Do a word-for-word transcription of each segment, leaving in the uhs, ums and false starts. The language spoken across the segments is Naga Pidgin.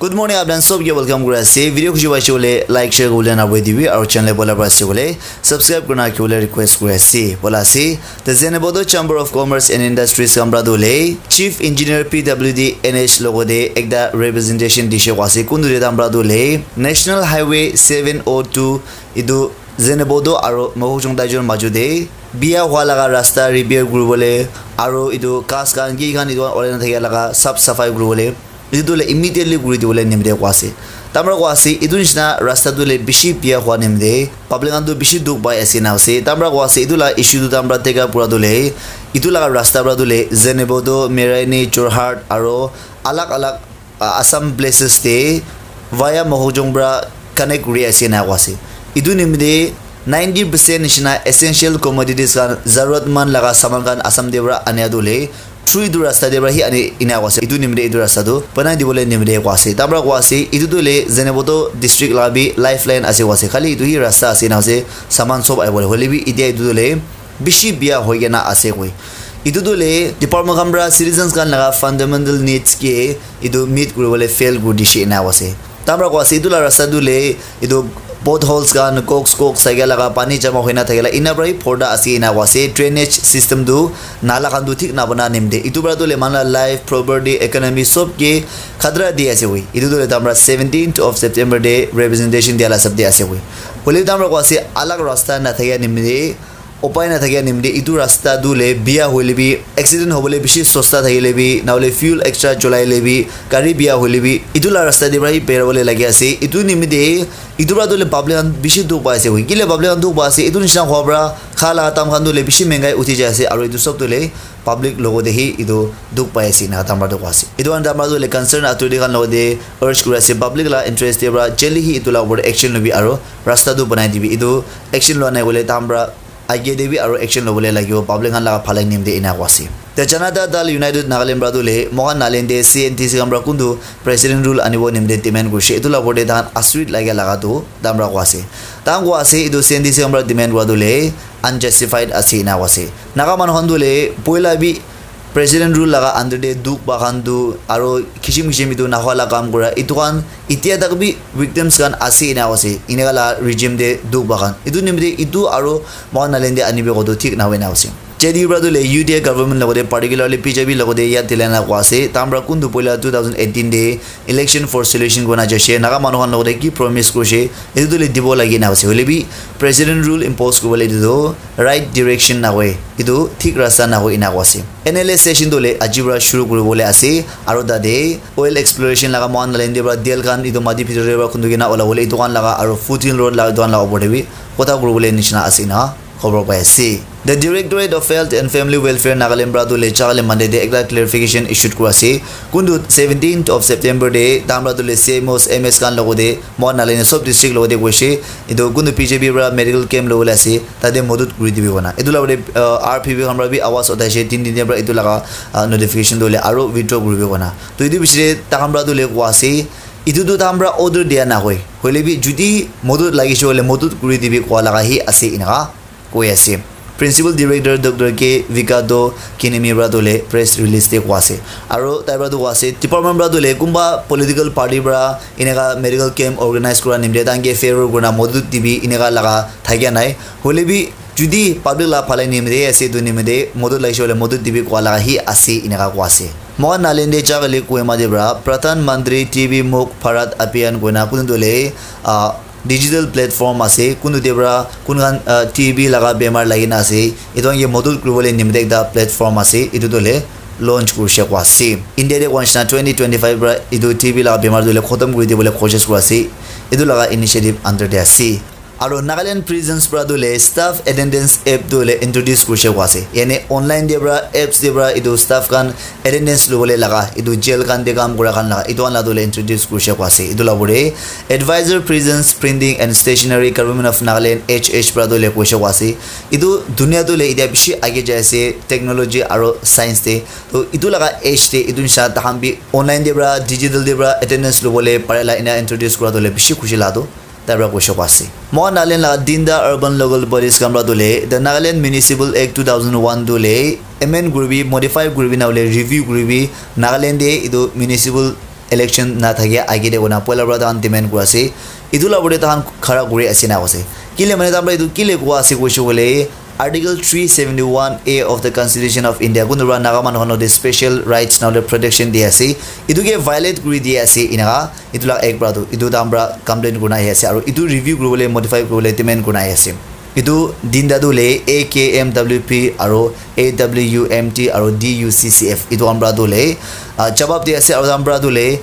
Good morning, apni khan sob ke welcome kuri ase. Video khushi paise koile like, share kuribole na bhuli dibi, aru channel te poila para ase koile subscribe kurina rakhibole request kuri ase. Bola ase, the Zunheboto Chamber of Commerce and Industries khan para tu hoile Chief Engineer P W D N H logo te ekta representation dishe koa ase. Kuntu te tai khan para tu hoile National Highway seven oh two, etu Zunheboto aru Mokokchung Taichung majo te bia hua laga rasta repair kuribole aru etu ghas khan ki khan etu khan olai na thakia laga sap safai kuribole, etu tu hoile immediately kuri dibole nimite koa ase. Tai khan para koa ase, etu nishina rasta tu hoile bishi bia hua nimite public khan tu bishi dukh pai ase na ase. Tai khan para koa ase, etu laga issue tu tai khan para take up kura tu hoile etu laga rasta para tu hoile Zunheboto, Meraini, Jorhat aru alag alag, ah, Assam places te via Mokokchung para connect kuri ase na koa ase. Etu nimite ninety percent nishina essential commodities khan, zaruratmand laga saman khan Assam te para ania tu hoile through etu rasta te para hi ani ena koa ase. Etu nimite etu rasta tu banai dibole nimite koa ase. Tai khan para koa ase, etu tu hoile Zunheboto district laga bi lifeline ase koa ase. Khali etu hi rasta ase na ase, saman sob ahi bole. Hoile bi etia etu tu hoile bishi bia hoi kena ase koi. Etu tu hoile department khan para citizens khan laga fundamental needs ke etu meet kuribole fail kuri dishe ena koa ase. Tai khan para koa ase, etu laga rasta tu hoile etu potholes khan, cox cox thakia laga, pani jama hoina thakia laga, ena para hi porda ase ena koa ase. Drainage system tu, nala khan tu thik nabana nimite etu para tu hoile manu laga life, property, economy sob ke khatra di ase koi. Etu tu hoile tai khan para seventeenth of September te representation dia laga hisab te ase koi. Hoile tai khan para koa ase, alag rasta na thakia nimite, upai na thakia nimite etu rasta tu hoile bia hoile bi, accident hobole bishi sosta thakile bi, na hoile fuel extra cholai le bi, gari bia hoile bi, etu laga rasta te para hi berabole lagi ase. Etu nimite etu para tu hoile public khan bishi dukh pai ase koi. Kile public khan dukh pai ase, etu nishina hua para kha laga dam khan tu hoile bishi mengai uthi jai ase, aru etu sob tu hoile public logo te hi etu dukh pai ase ena tai khan para tu koa ase. Etu khan tai khan para tu hoile concern authority khan logo te urge kuri ase, public laga interest te para jaldi hi etu laga upor te action lobi aru rasta tu banai dibi. Etu action lua nai koile tai khan para age te bi aru action lobole lagibo, public khan laga bhalai nimite ena koa ase. The Janata Dal United Nagaland para tu hoile moikhan Nagaland te C N T C khan para kuntu president rule anibo nimite demand kurishe, etu laga upor te tai khan asurit lagia laga tu tai khan para koa ase. Tai khan koa ase etu C N T C khan para demand kura tu hoile unjustified ase ena koa ase. Naga manu khan tu hoile poila bi president rule laga under te dukh pa khan tu aru kisim kisim etu nahua laga kam kura, etu khan etia tak bi victims khan ase ena ase, eneka laga regime te dukh pa khan. Etu nimite etu aru moikhan Nagaland te anibi koto thik nahoi na ase. J D U para tu hoile U T A government logote, particularly B J P logote yat dilai na koa ase. Tai khan para kuntu poila two thousand eighteen te election for solution koi na jaise. Naga manu khan logote ki promise kurishe, etu tu hoile dibo lagi na ase. Hoile bi president rule impose kuribole etu tu right direction nahoi, etu thik rasta nahoi ena koa ase. N L A session tu hoile aji para shuru kuribole ase, aru tate oil exploration laga moikhan Nagaland te para tel khan etu mati bhitor te para khundu kena olabole, etu khan laga aru foothill road laga etu khan laga upor te bi kotha kuribole nishina ase ena khobor pai ase. The Directorate of Health and Family Welfare Nagaland para tu hoile jaka le Monday te ekta clarification issued kura ase. Kuntu seventeenth of September te tai khan para tu hoile C M Os, M As khan logote, moikhan Nagaland sob district logote koise, etu kuntu B J P para medical camp lobole ase, tate modot kuri dibi kona. Etu laga upor te, uh, R P P khan para bi awaz uthaise, tin din te para etu laga, uh, notification tu hoile aru withdraw kuribi kona. To etu piche te tai khan para tu hoile koa ase, etu tu tai khan para order dia nahoi. Hoile bi jodi modot lagise hoile modot kuri dibi koa laga hi ase eneka koi ase. Principal Director Doctor K Vikato Kinimi para tu hoile press release te koa ase. Aru tai para tu koa ase, department para tu hoile kunba political party para eneka medical camp organize kura nimite tai khan ke favor kurina modot dibi eneka laga thakia nai. Hoile bi jodi public laga bhalai nimite ase, etu nimite modot lagise hoile modot dibi koa laga hi ase eneka koa ase. Moikhan Nagaland te jaka le Kohima te para Pradhan Mantri T B Mukht Bharat Abhiyan koina kuntu tu hoile, ah, digital platform ase, kuntu te para kun khan, ah, T B laga bemar lagi na ase, etu khan ke modot kuribole nimite ekta platform ase, etu tu hoile launch kurishe koa ase. India te koa nishina twenty twenty-five para etu T B laga bemar tu hoile khotom kuri dibole koshish kura ase, etu laga initiative under te ase. Aru Nagaland prisons para tu hoile staff attendance app tu hoile introduce kurishe koa ase, yane online te para apps te para etu staff khan attendance lobole laga, etu jail khan te kam kura khan laga, etu khan laga tu hoile introduce kurishe koa ase. Etu laga upor te Advisor Prisons Printing and Stationery, Government of Nagaland, H H para tu hoile koishe koa ase. Etu dunia tu hoile etia bishi age jai ase, technology aru science te. To etu laga age te etu nishina tai khan bi online te para, digital te para attendance lobole pare la ena introduce kura tu hoile bishi khushi laga tu tai para koishe koa ase. Moikhan Nagaland laga tinta urban local bodies khan para tu hoile, the Nagaland Municipal Act two thousand one tu hoile amend kuribi, modify kuribi, na hoile review kuribi, Nagaland te etu municipal election na thake age de kona poila para tahan demand kura ase. Itu la bole tahan khara kuri ase na ase. Kile mane tahan para itu kile kua ase koishe kole, Article three seventy-one A of the Constitution of India, kuntu para Naga manu khan logote special rights na protection di ase. Itu ke violate kuri di ase inaka. Itu la ek para tu, itu tahan para complain kurina ahi ase. Aru itu review kuribole, modify kuribole demand kurina ahi ase. Itu dinda tu le A K M W P aru A W M T aru D U C C F itu khan para tu le, ah, jawab di ase aru tahan para tu le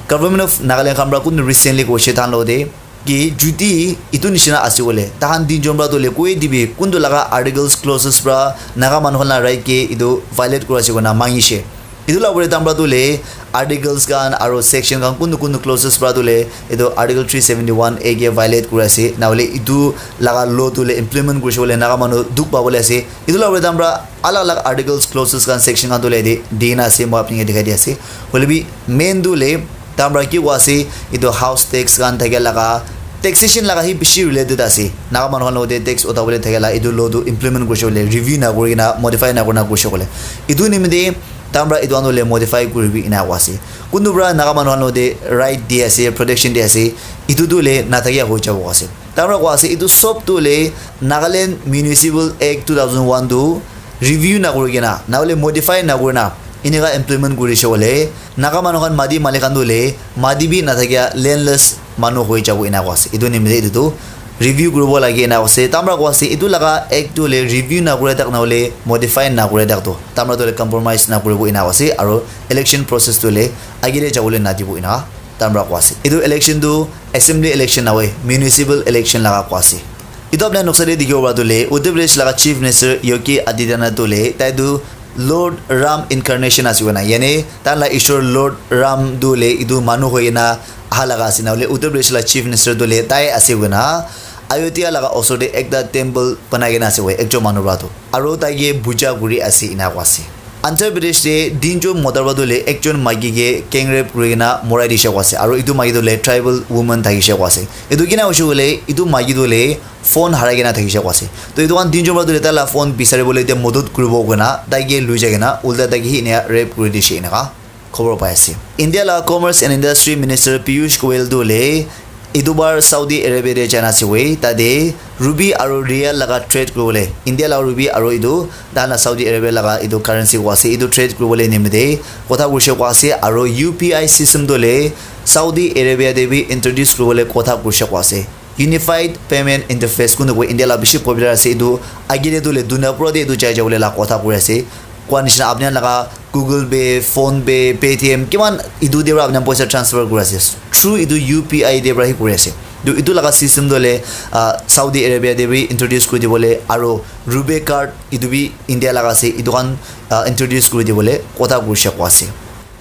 Government of Nagaland khan para kuntu recently koishe tahan logote ki judi itu nishina ase kole, tahan tinjon para tu le koi dibi kuntu laga articles, clauses para Naga manu khan la right ke itu violate kura ase koina mangishe. Itu la pore tahan para tu le articles khan aru section khan kuntu kuntu clauses para tu le itu Article three seventy-one A ke violate kura ase. Na hole itu laga law tu le implement kurishe kole Naga manu dukh pabole ase. Itu la pore tahan para alag alag articles, clauses khan, section khan tu le di, di na ase, moi apni ke dikhai di ase. Hoile bi main tu le tahan para ki koi ase, itu house tax khan thake laga, taxation laga hi bishi related ase. Naga manu khan logote tax utabole thake la, itu law tu implement kurishe kole, review na kuri kena, modify na kurina kurishe kole. Itu nimite tahan para itu khan tu le modify kuribi ina koi ase. Kuntu para Naga manu khan logote right di ase, protection di ase, itu tu le na thakia hoi jabo ase. Tahan para koi ase, itu sob tu le Nagaland Municipal Act two thousand one tu review na kuri kena, na hole modify na kurina, ineka implement kurishe kole, Naga manu khan mati malik khan tu le, mati bi na thakia landless manu hoi jabo ina koi ase. Itu nimite itu tu review kuribo lage ina koi ase. Tahan para koi ase, itu laga act tu le review na kura tak na hole modify na kura tak tu, tahan para tu le compromise na kuribo ina koi ase. Aru election process tu le age de jabole na dibo ina tahan para koi ase. Itu election tu assembly election na hoi, municipal election laga koi ase. Itu apni noksa de dikhibo para tu le, Uttar Pradesh laga Chief Minister Yogi Adityanath tu le, tai tu Lord Ram incarnation ase koina, yani tahan la Ishwar Lord Ram tu le itu manu hoi kena aha laga ase, na hole Uttar Pradesh la Chief Minister tu le tai ase koina, Ayodhya laga osor de ekta temple banai kena ase koi, ekjon manu para tu. Aru tai ke puja kuri ase ina koi ase. Andhra Pradesh te tinjon mota para tu le ekjon maiki ke gang rape kuri kena morai dishe koi ase. Aru itu maiki tu le tribal woman thakishe koi ase. Itu kina hoishe kole, itu maiki tu le phone harai kena thakishe koi ase. To itu khan tinjon para tu le tai la phone bisari bole ite modot kuribo koina tai ke lui jai kena ulta tai ke hi enia rape kuri dishe inaka khobor pai ase. India la Commerce and Industry Minister Piyush Goyal tu le itu bar Saudi Arabia te jana ase koi, tate ruby aru real laga trade kuribole, India laga ruby aru itu tahan la Saudi Arabia laga itu currency koi ase, itu trade kuribole nimite kotha kurishe koi ase, aru U P I system tu le Saudi Arabia te bi introduce kuribole kotha kurishe koi ase. Unified Payment Interface kuntu koi India la bishi popular ase, itu age te tu le dunia pura te itu jai jabole la kotha kuri ase. Koi nishina apni laga Google Pay, PhonePe, Paytm, kiman itu de para apni poisa transfer kuri ase. Through itu U P I de para hi kuri ase. Itu, itu laga system tu le, ah, Saudi Arabia de bi introduce kuri dibole, aru RuPay card itu bi India laga ase, itu khan, ah, introduce kuri dibole kotha kurishe koi ase.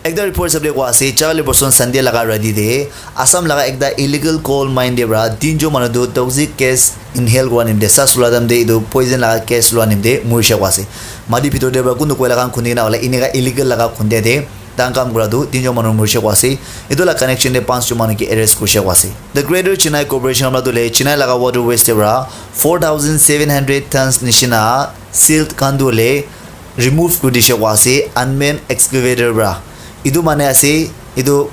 Ekta report hisab de koi ase, Charlie Boston Sunday laga rati de Assam laga ekta illegal coal mine de para tinjon manu tu toxic gas inhale kura nimite, sas lua time te itu poison laga gas lua nimite murishe koi ase. Mati bhitor te para kuntu koila khan khuni kena hoile eneka illegal laga khunde te tahan kam kura tu tinjon manu murishe koi ase. Itu la connection te panch jon manu ke arrest kurishe koi ase. The Greater Chennai Corporation amra tu le Chennai laga waterways te para four thousand seven hundred tons nishina silt khan tu le remove kuri dishe koi ase unmanned excavator para. Itu mane ase, itu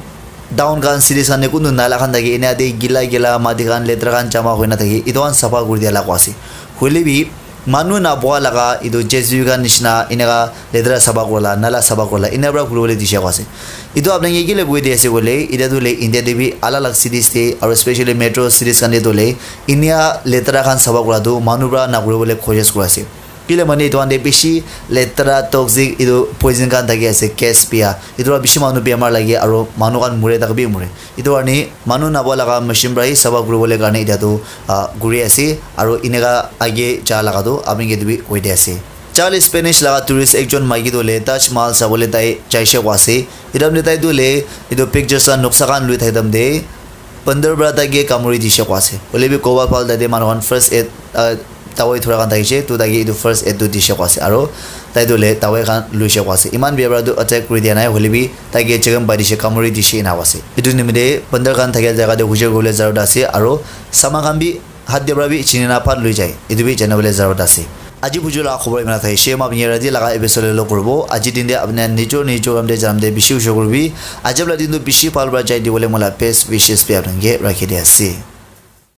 town khan, cities khan te kuntu nala khan thake, ena te gila gila mati khan, letra khan jama hoina thake, itu khan sapha kuri dia la koi ase. Hoile bi, manu naboha laga itu J C B khan nishina eneka letra sapha kurila, nala sapha kurila, ena para kuribole dishe koi ase. Itu apni ke kile koi di ase koile, itya tu le India te bi alag alag cities te, aru especially metro cities khan te tu le, enia letra khan sapha kura tu manu para nakuribole koshish kuri ase. Kile mane etu khan te bishi letera, toxic, etu poison khan thaki ase, gas bia. Etu para bishi manu bemar lage aru manu khan mure, thaka bi mure. Etu karne manu nabo laga machine para hi sapha kuribole karne etia tu, ah, kuri ase aru eneka age ja laga tu apni ke etu bi koi di ase. Charles Spanish laga tourist ekjon maiki tu hoile Taj Mahal sabole tai jaise koi ase. Etu time te tai tu hoile etu pictures la noksa khan lui thaka time te bandar para tai ke kamuri dise koi ase. Hoile bi koba phal tate manu khan first aid, ah, dawai thora khan thakise, tu tai ke etu first aid tu dise koi ase, aro tai tu hoile dawai khan luise koi ase. Eman bia para tu attack kuri dia nai, hoile bi tai ke chekem pai dise, kamuri dise ena koi ase. Etu nimite bandar khan thakia jaga te hujai kuribole jarut ase, aro saman khan bi hat te para bi chini na phat lui jai, etu bi jana bole jarut ase. Aji buju la khobor imana thai she ma bini radi laga episode lo kurbo. Aji din de apni nijor nijor kam de jam de bishi usho kurbi. Ajab la din tu bishi pal bra jai di bole mola best wishes bi apni ke rakhi de ase.